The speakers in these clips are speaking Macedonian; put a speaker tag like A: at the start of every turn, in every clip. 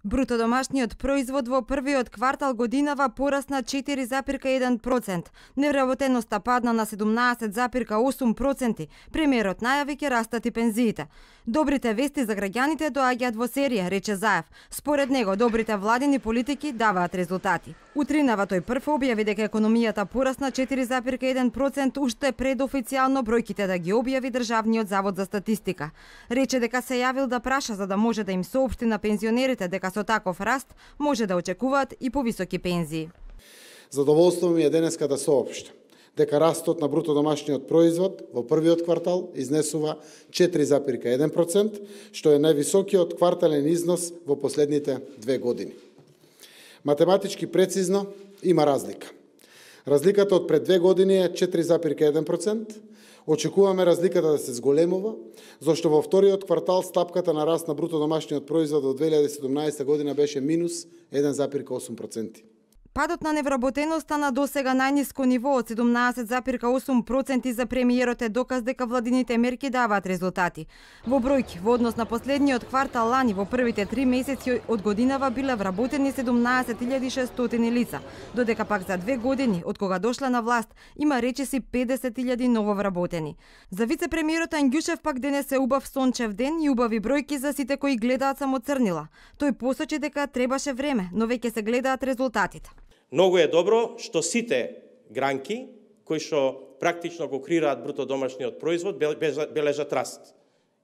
A: Бруто домашниот производ во првиот квартал годинава порасна 4,1%. Невработеноста падна на 17,8%. Премиерот најави ќе растат и пензиите. Добрите вести за граѓаните доаѓаат во серија, рече Заев. Според него, добрите владини политики даваат резултати. Утринава тој прв објави дека економијата порасна 4,1% уште пред официјално бројките да ги објави Државниот завод за статистика. Рече дека се јавил да праша за да може да им соопшти на пензионерите дека со таков раст може да очекуваат и повисоки пензии.
B: Задоволство ми е денеска да соопштам дека растот на бруто домашниот производ во првиот квартал изнесува 4,1%, што е највисокиот квартален износ во последните 2 години. Математички прецизно има разлика. Разликата од пред 2 години е 4,1%. Очекуваме разликата да се зголемува, зашто во вториот квартал стапката на раст на бруто домашниот производ од 2017 година беше минус 1,8%.
A: Падот на невработеноста на досега најниско ниво од 17,8% за премиерот е доказ дека владините мерки даваат резултати. Во бројки, во однос на последниот квартал лани, во првите 3 месеци од годинава биле вработени 17.600 лица, додека пак за 2 години, од кога дошла на власт, има речиси 50.000 нововработени. За вице-премиерот Анѓушев пак денес е убав сончев ден и убави бројки за сите кои гледаат само црнила. Тој посочи дека требаше време, но веќе се гледаат резултатите.
C: Многу е добро што сите гранки кои што практично го креираат бруто домашниот производ бележат раст.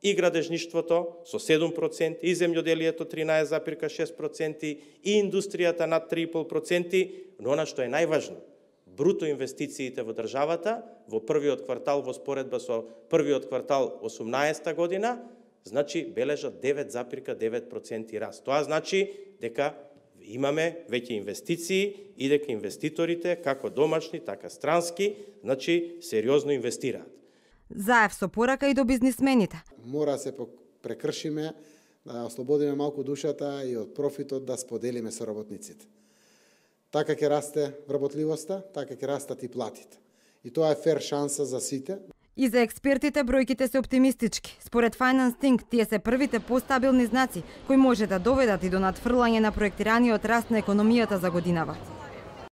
C: И градежништвото со 7%, и земјоделието 13,6%, и индустријата над 3,5%, но она што е најважно, бруто инвестициите во државата во првиот квартал во споредба со првиот квартал 18 година, значи бележат 9,9% раст. Тоа значи дека имаме веќе инвестиции и дека инвеститорите, како домашни, така странски, значи сериозно инвестираат.
A: Заев со порака и до бизнисмените.
B: Мора се прекршиме, да ослободиме малку душата и од профитот да споделиме со работниците. Така ќе расте вработливоста, така ќе растат и платите. И тоа е фер шанса за сите.
A: И за експертите бројките се оптимистички. Според Finance Think, тие се првите постабилни знаци кои може да доведат и до надфрлање на проектираниот раст на економијата за годинава.